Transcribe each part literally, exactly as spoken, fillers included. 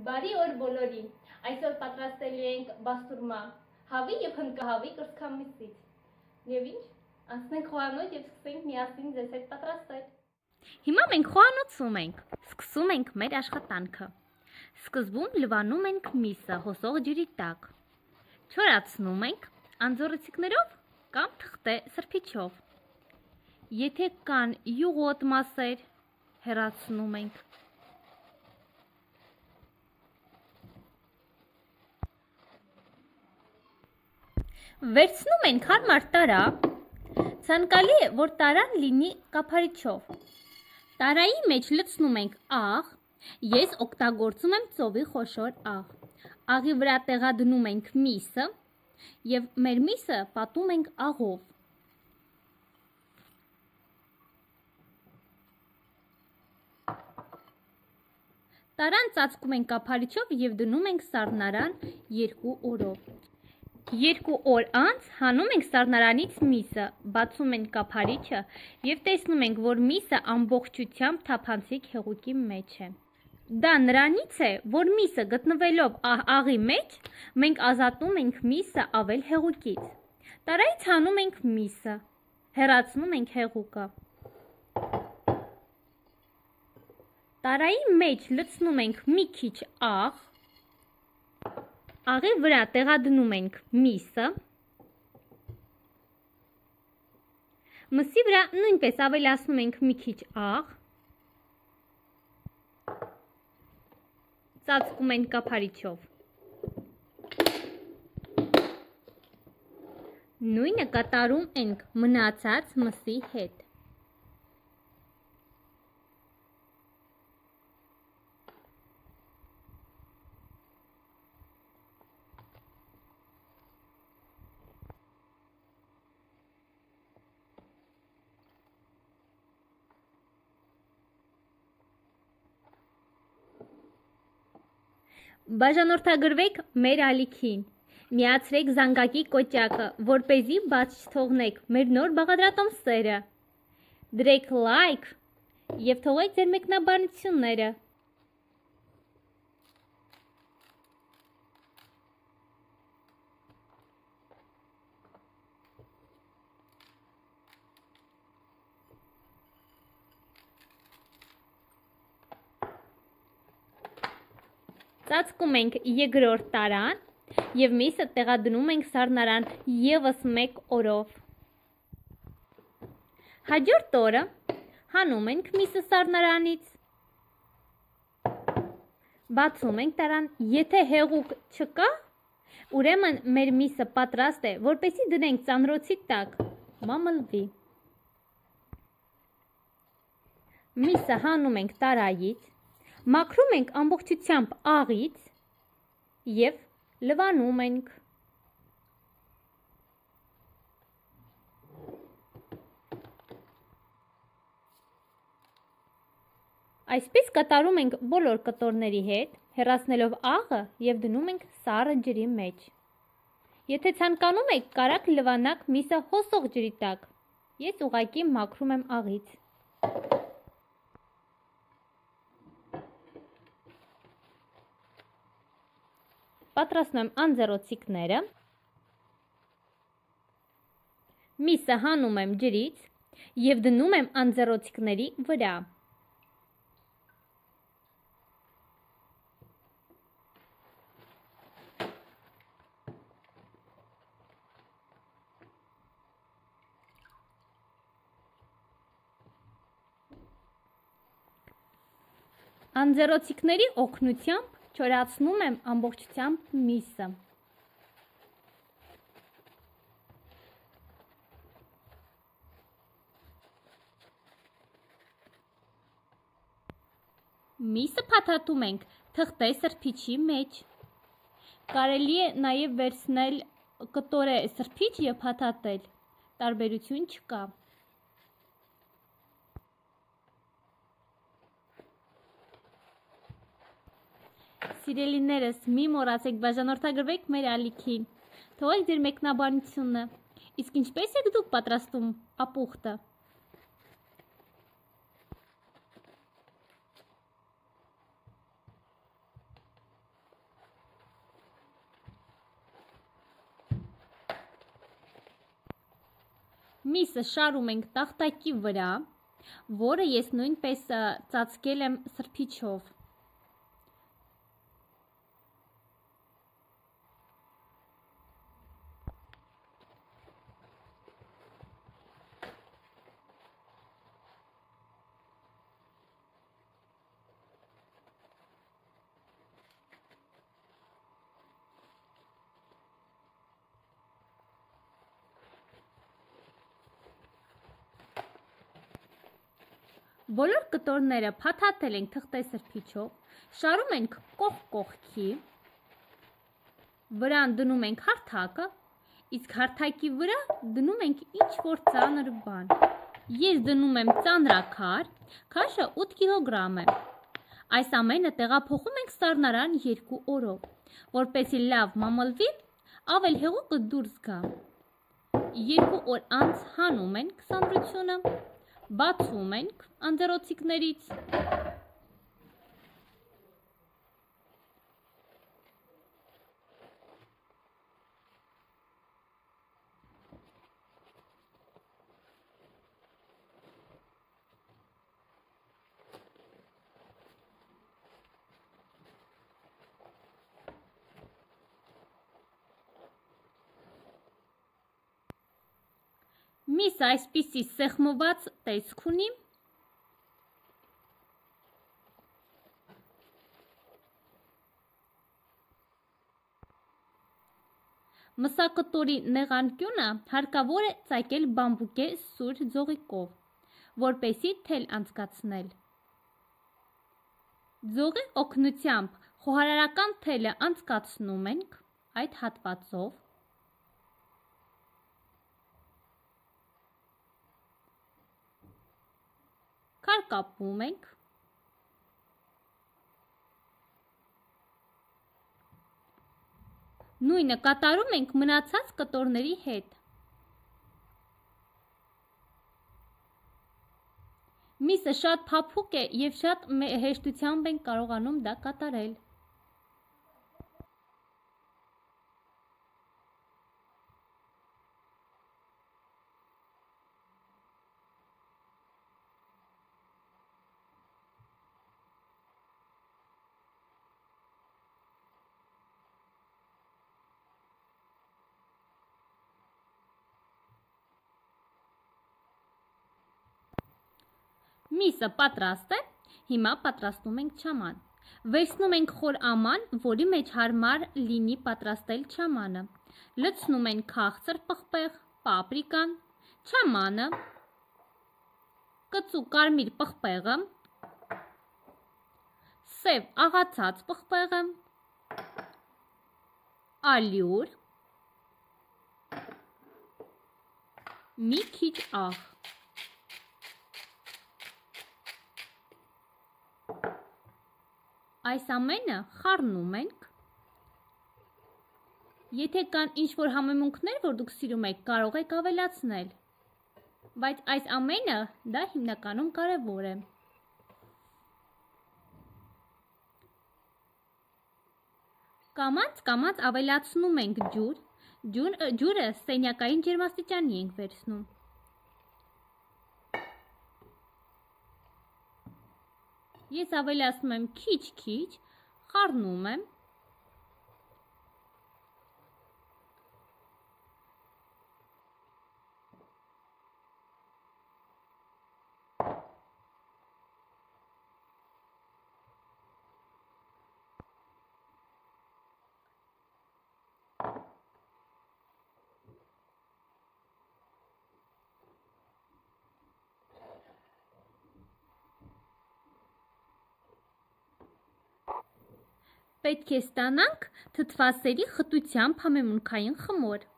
Բարի օր բոլորին, այսօր պատրաստելու ենք բաստուրմա, հավի և հնկահավի կրծքամիսից։ Եվ ինչ, անցնենք խոհանոց և սկսենք միասին ձեզ հետ պատրաստել։ Հիմա մենք խոհանոցում ենք, սկսում ենք մեր աշխատանքը։ Սկզբում լվանում ենք միսը հոսող ջրի տակ։ Չորացնում ենք անձեռոցիկներով կամ թղթե սրբիչով։ Եթե կան յուղոտ մասեր, հեռացնում ենք։ Վերցնում ենք հարմար տարա, ցանկալի է, որ տարան լինի կափարիչով։ Տարայի մեջ լցնում ենք աղ, ես օգտագործում եմ ծովի խոշոր աղ։ Աղի վրա տեղադրում ենք միսը և մեր միսը պատում ենք աղով։ Տարան ծածկում ենք կափարիչով և դնում ենք սառնարան երկու օրով։ Երկու օր անց հանում ենք սառնարանից միսը, բացում ենք կափարիչը և տեսնում ենք, որ միսը ամբողջությամբ թափանցիկ հեղուկի մեջ է։ Դա նրանից է, որ միսը գտնվելով աղի մեջ, մենք ազատում ենք միսը ավել հեղուկից։ Տարայից հանում ենք միսը, հեռացնում ենք հեղուկը։ Տարայի մեջ լցնում ենք մի քիչ աղ, աղի վրա տեղադրում ենք միսը, մսի վրա նույնպես ավելացնում ենք մի քիչ աղ, ծածկում ենք կափարիչով։ Նույնը կատարում ենք մնացած մսի հետ։ Բաժանորդագրվեք մեր ալիքին, միացրեք զանգակի կոճակը, որպեսզի բաց չթողնեք մեր նոր բաղադրատոմսերը, դրեք լայք և թողեք ձեր մեկնաբանությունները։ Ծածկում ենք երկրորդ տարան և միսը տեղադրում ենք սառնարան ևս մեկ օրով։ Հաջորդ օրը հանում ենք միսը սառնարանից, բացում ենք տարան, եթե հեղուկ չկա, ուրեմն մեր միսը պատրաստ է, որպեսզի դնենք ծանրոցի տակ, մամլվի։ Միսը հանում ենք տարայից, մաքրում ենք ամբողջությամբ աղից և լվանում ենք։ Այսպես կատարում ենք բոլոր կտորների հետ, հեռացնելով աղը և դնում ենք սառը ջրի մեջ։ Եթե ցանկանում եք, կարաք լվանաք միսը հոսող ջրի տակ, ես ուղղակի մաքրում եմ աղից։ Պատրաստում եմ անձեռոցիկները, միսը հանում եմ ջրից և դնում եմ անձեռոցիկների վրա։ Անձեռոցիկների օգնությամբ չորացնում եմ ամբողջությամբ միսը։ Միսը փաթաթում ենք թղթե սրբիչի մեջ։ Կարելի է նաև վերցնել կտորե սրբիչ և փաթաթել, տարբերություն չկա։ Սիրելիներս, մի մոռացեք բաժանորդագրվեք մեր ալիքին, թողեք ձեր մեկնաբանությունը, իսկ ինչպես եք դուք պատրաստում ապուխտը։ Միսը շարում ենք տախտակի վրա, որը ես նույնպես ծածկել եմ սրբիչով։ Բոլոր կտորները փաթաթել ենք թղթեսրբիչով, շարում ենք կողք կողքի, վրան դնում ենք հարթակը, իսկ հարթակի վրա դնում ենք ինչ-որ ծանր բան։ Ես դնում եմ ծանրաքար, քաշը ութ կիլոգրամ է։ Այս ամենը տեղափոխում ենք սառնարան երկու օրով, որպեսզի լավ մամլվի, ավել հեղուկը դուրս գա։ Երկու օր անց հանում ենք սանրությունը, բացում ենք անձեռոցիկներից։ Միսը այսպիսի սեղմված տեսք ունի։ Մսակտորի նեղանկյունը հարկավոր է ծակել բամբուկե սուր ձողիկով, որպեսզի թել անցկացնել։ Ձողի օգնությամբ խոհարարական թելը անցկացնում ենք այդ հատվածով։ Քարկապում ենք, նույնը կատարում ենք մնացած կտորների հետ։ Միսը շատ փափուկ է և շատ հեշտությամբ ենք կարողանում դա կատարել։ Միսը պատրաստ է, հիմա պատրաստում ենք չաման։ Վերցնում ենք խոր աման, որի մեջ հարմար լինի պատրաստել չամանը։ Լցնում ենք քաղցր պղպեղ, պապրիկան, չամանը, կծու կարմիր պղպեղը, սև աղացած պղպեղը, ալյուր, մի քիչ աղ։ Այս ամենը խառնում ենք։ Եթե կան ինչ-որ համեմունքներ, որ դուք սիրում եք, կարող եք ավելացնել, բայց այս ամենը դա հիմնականում կարևոր է։ Կամաց-կամաց ավելացնում ենք ջուր, ջուրը սենյակային ջերմաստիճանի ենք վերցնում։ Ես ավելացնում եմ քիչ-քիչ, խառնում եմ։ Պետք է ստանանք թթվասերի խտությամբ համեմունքային խմոր։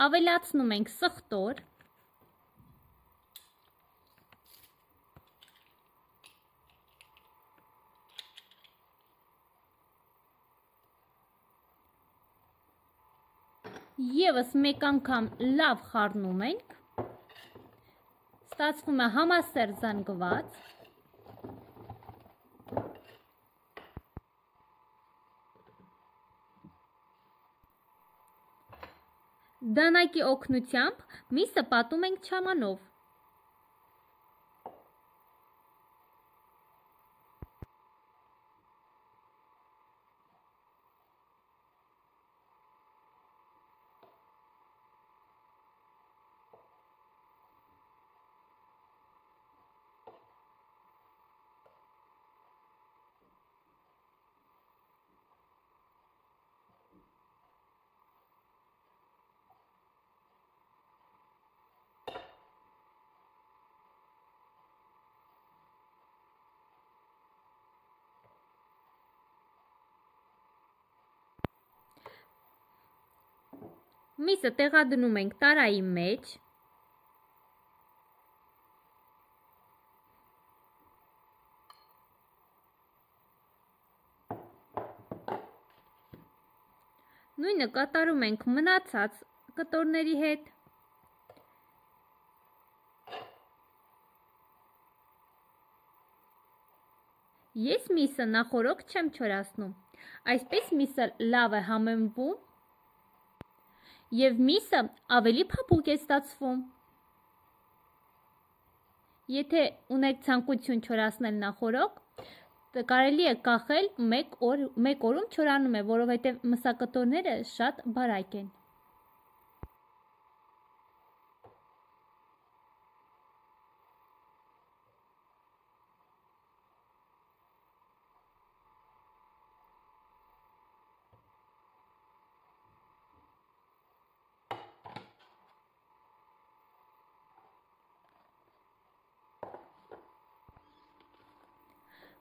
Ավելացնում ենք սխտոր, Եվս մեկ անգամ լավ խառնում ենք, ստացվում է համասեր զանգված, դանակի օգնությամբ միսը պատում ենք չամանով։ Միսը տեղադրում ենք տարայի մեջ, նույնը կատարում ենք մնացած կտորների հետ, ես միսը նախորոք չեմ չորացնում, այսպես միսը լավ է համեմվում և միսը ավելի փափուկ է ստացվում։ Եթե ունեք ցանկություն չորացնել նախորոք, կարելի է կախել մեկ օր, մեկ օրում չորանում է, որովհետև մսակտորները շատ բարակ են։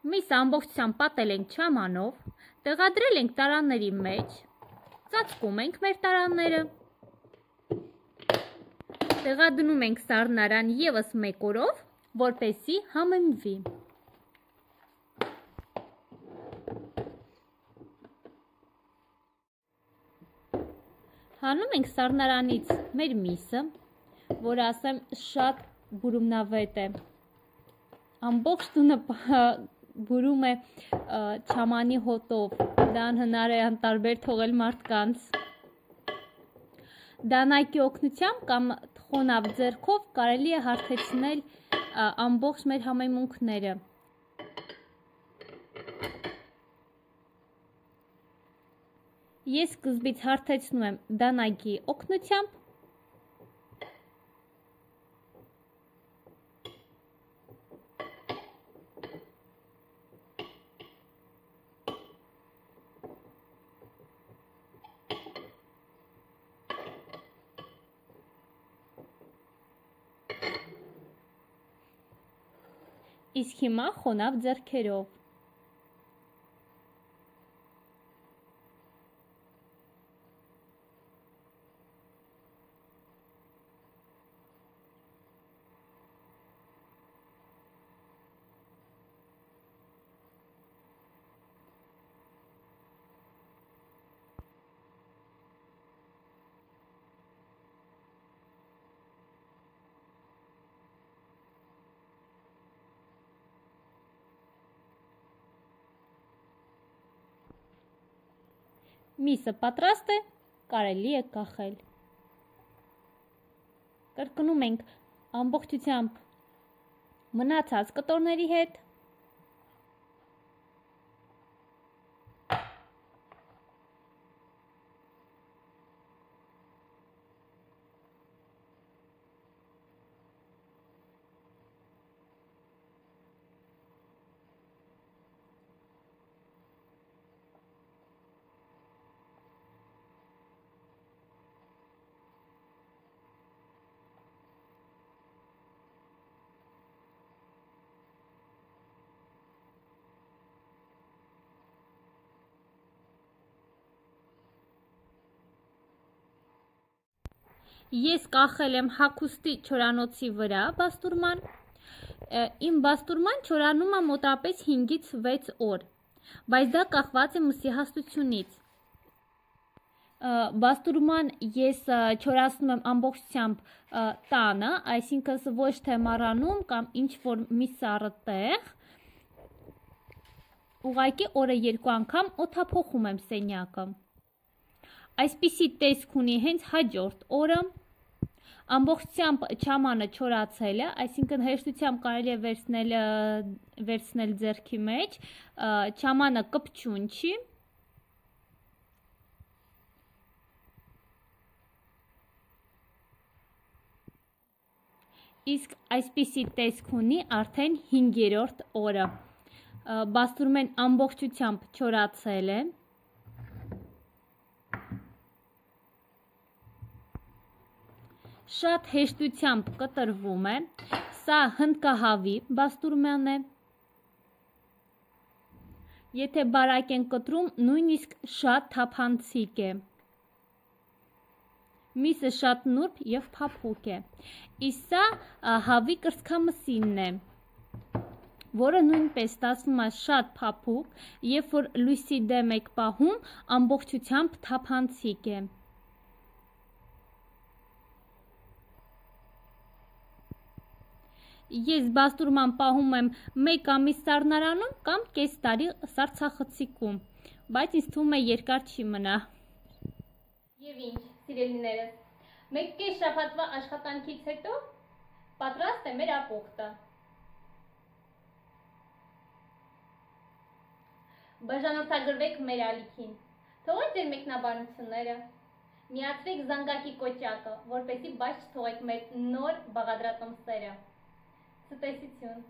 Միսը ամբողջությամբ պատել ենք չամանով, տեղադրել ենք տարաների մեջ, ծածկում ենք մեր տարաները, տեղադրում ենք սառնարան ևս մեկ օրով, որպեսզի համեմվի։ Հանում ենք սառնարանից մեր միսը, որ ասեմ շատ բուրումնավետ է, ամբողջ տունը բուրում է չամանի հոտով, դա անհնար է անտարբեր թողել մարդկանց։ Դանակի օգնությամբ կամ խոնավ ձեռքով կարելի է հարթեցնել ամբողջ մեր համեմունքները։ Ես սկզբից հարթեցնում եմ դանակի օգնությամբ, իսկ հիմա խոնավ ձեռքերով։ Միսը պատրաստ է, կարելի է կախել։ Կրկնում ենք ամբողջությամբ մնացած կտորների հետ։ Ես կախել եմ հագուստի չորանոցի վրա բաստուրման, իմ բաստուրման չորանում է մոտապես հինգից վեց օր, բայց դա կախված է մսի հաստությունից։ Բաստուրման ես չորացնում եմ ամբողջությամբ տանը, այսինքն ոչ թե մառանում կամ ինչ-որ մի սառը տեղ, ուղղակի օրը երկու անգամ օդափոխում եմ սենյակը։ Այսպիսի տեսք ունի հենց հաջորդ օրը, ամբողջությամբ չամանը չորացել է, այսինքն հեշտությամբ կարելի է վերցնել, վերցնել ձեռքի մեջ, չամանը կպչուն չի, իսկ այսպիսի տեսք ունի արդեն հինգերորդ օրը, բաստուրմեն ամբողջությամբ չորացել է, շատ հեշտությամբ կտրվում է, սա հնդկահավի բաստուրման է, եթե բարակ են կտրում, նույնիսկ շատ թափանցիկ է, միսը շատ նուրբ և փափուկ է, իսկ սա հավի կրծքամսինն է, որը նույնպես ստացվում է շատ փափուկ, երբ որ լույսի դեմ եք պահում, ամբողջությամբ թափանցիկ է։ Ես բաստուրման պահում եմ մեկ ամիս սառնարանում կամ կես տարի սառցախցիկում, բայց ինձ թվում է երկար չի մնա։ Եվ ինչ, սիրելիներս, մեկ կես շաբաթվա աշխատանքից հետո պատրաստ է մեր ապուխտը։ Բաժանորդագրվեք մեր ալիքին, թողեք ձեր մեկնաբանությունները, միացրեք զանգակի կոճակը, որպեսզի բաց չթողեք մեր նոր բաղադրատոմսերը։ Ցտեսություն։